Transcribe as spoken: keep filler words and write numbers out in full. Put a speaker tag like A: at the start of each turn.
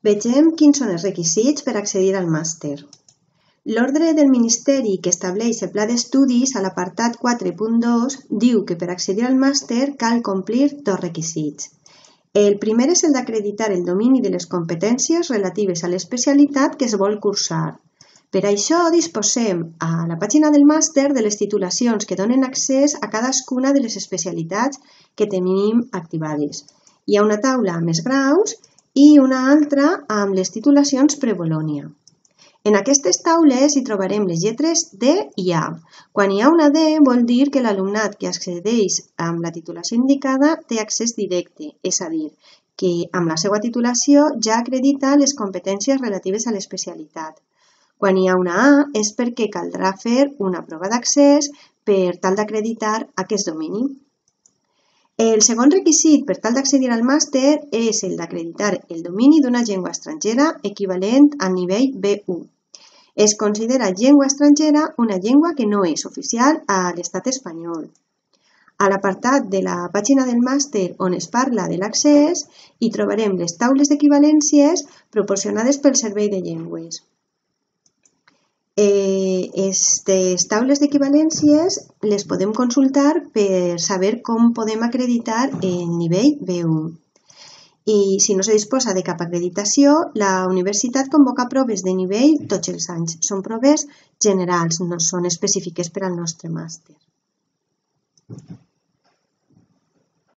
A: Vegem quins són els requisits per accedir al màster. L'ordre del Ministeri que estableix el pla d'estudis a l'apartat quatre punt dos diu que per accedir al màster cal complir dos requisits. El primer és el d'acreditar el domini de les competències relatives a l'especialitat que es vol cursar. Per això disposem a la pàgina del màster de les titulacions que donen accés a cadascuna de les especialitats que tenim activades. Hi ha una taula amb els graus i una altra amb les titulacions pre-Bolònia. En aquestes taules hi trobarem les lletres D i A. Quan hi ha una D vol dir que l'alumnat que accedeix amb la titulació indicada té accés directe, és a dir, que amb la seva titulació ja acredita les competències relatives a l'especialitat. Quan hi ha una A és perquè caldrà fer una prova d'accés per tal d'acreditar aquest domini. El segon requisit per tal d'accedir al màster és el d'acreditar el domini d'una llengua estrangera equivalent al nivell B u. Es considera llengua estrangera una llengua que no és oficial a l'estat espanyol. A l'apartat de la pàgina del màster on es parla de l'accés hi trobarem les taules d'equivalències proporcionades pel Servei de Llengües. Aquestes taules d'equivalències les podem consultar per saber com podem acreditar el nivell B u. I si no se disposa de cap acreditació, la universitat convoca proves de nivell tots els anys. Són proves generals, no són específiques per al nostre màster.